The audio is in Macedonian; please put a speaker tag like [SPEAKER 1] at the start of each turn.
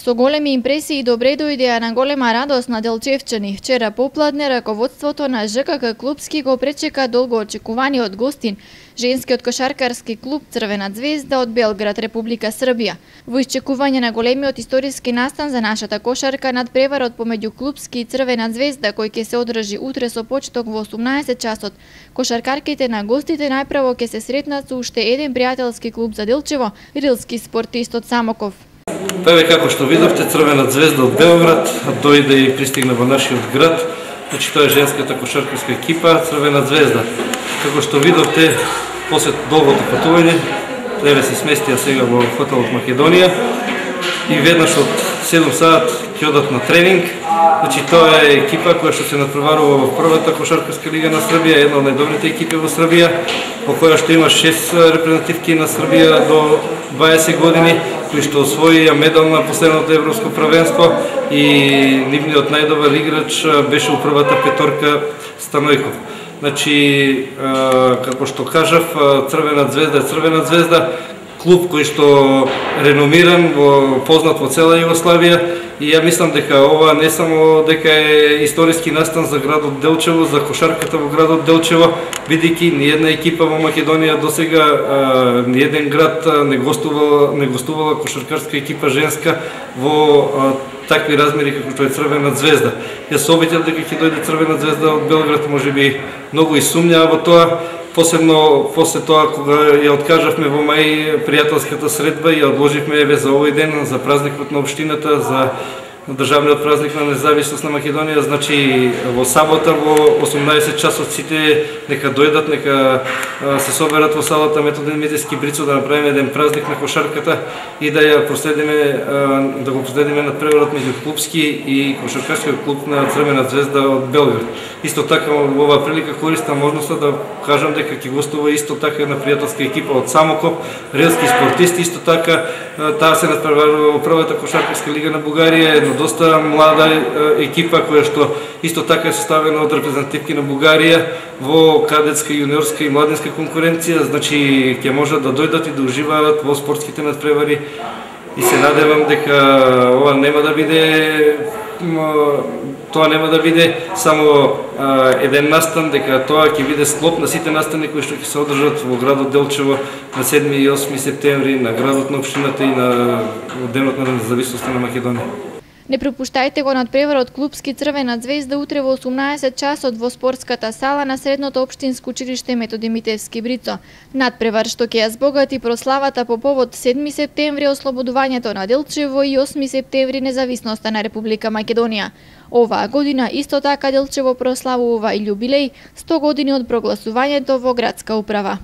[SPEAKER 1] Со големи импресии добре дојдеа на голема радост на делчевчани. Вчера попладне раководството на ЖКК Клупски го пречека долго очекуваниот гостин, женскиот кошаркарски клуб Црвена звезда од Белград, Република Србија. Во исчекување на големиот историски настан за нашата кошарка надпреварот помеѓу Клупски и Црвена звезда, кој ќе се одржи утре со почеток во 18 часот, кошаркарките на гостите најпрво ќе се сретнат со уште еден пријателски клуб за Делчево, рилски спортист од Самоков.
[SPEAKER 2] Еве како што видовте, Црвена звезда од Белград дојде и пристигна во нашиот град. Значи тоа е женската кошаркарска екипа Црвена звезда. Како што видовте, после долгото патување, еве се сместија сега во хотелот Македонија и веднаш од 7 саат ќе одат на тренинг. Значи тоа е екипа која што се надпреварува во првата кошаркарска лига на Србија, една од најдобрите екипи во Србија, во која што има 6 репрезентативки на Србија до 20 години, кои што освоија медал на последното европско првенство и нивниот најдобар играч беше у првата петорка Станојков. Значи, како што кажав, Црвена звезда е Црвена звезда, клуб кој што реномиран, познат во цела Југославија, и ја мислам дека ова не само дека е историски настан за градот Делчево, за кошарката во градот Делчево, бидејќи ни една екипа во Македонија досега, ни еден град не гостувала кошаркарска екипа женска во такви размери како што е Црвена звезда. Јас се обидев дека ќе дојде Црвена звезда од Белград, можеби многу и сумњаа во тоа, посебно после тоа кога ја откажавме во мај пријателската средба и ја одложивме еве за овој ден, за празникот на општината, за државниот празник на независност на Македонија. Значи во сабота во 18 часот сите нека дојдат, нека се соберат во салата Методин Митевски Брицо да направиме еден празник на кошарката и да ја проследиме, да го проследиме надпреварот меѓу Клупски и кошаркарскиот клуб на Црвена звезда од Белград. Исто така во оваа прилика користам можноста да кажам дека ќе гостува исто така една пријателска екипа од Самоков, рилски спортисти, исто така таа се надпреварува во првата кошаркарска лига на Бугарија, една доста млада екипа која што исто така е составена од репрезентативки на Бугарија во кадетска, јуниорска и младинска конкуренција. Значи ќе можат да дојдат и да уживаат во спортските надпревари и се надевам дека ова нема да биде само еден настан, дека тоа ќе биде склоп на сите настани кои што ќе се одржат во градот Делчево на 7 и 8 септември, на градот на општината и на денот на независноста на Македонија.
[SPEAKER 1] Не пропуштајте го надпреварот Клупски Црвена звезда утре во 18 часот во спортската сала на средното општинско училиште Методи Митевски Брицо. Надпревар што ќе ја збогати прославата по повод 7 септември ослободувањето на Делчево и 8 септември независноста на Република Македонија. Оваа година исто така Делчево прославува и јубилеј 100 години од прогласувањето во градска управа.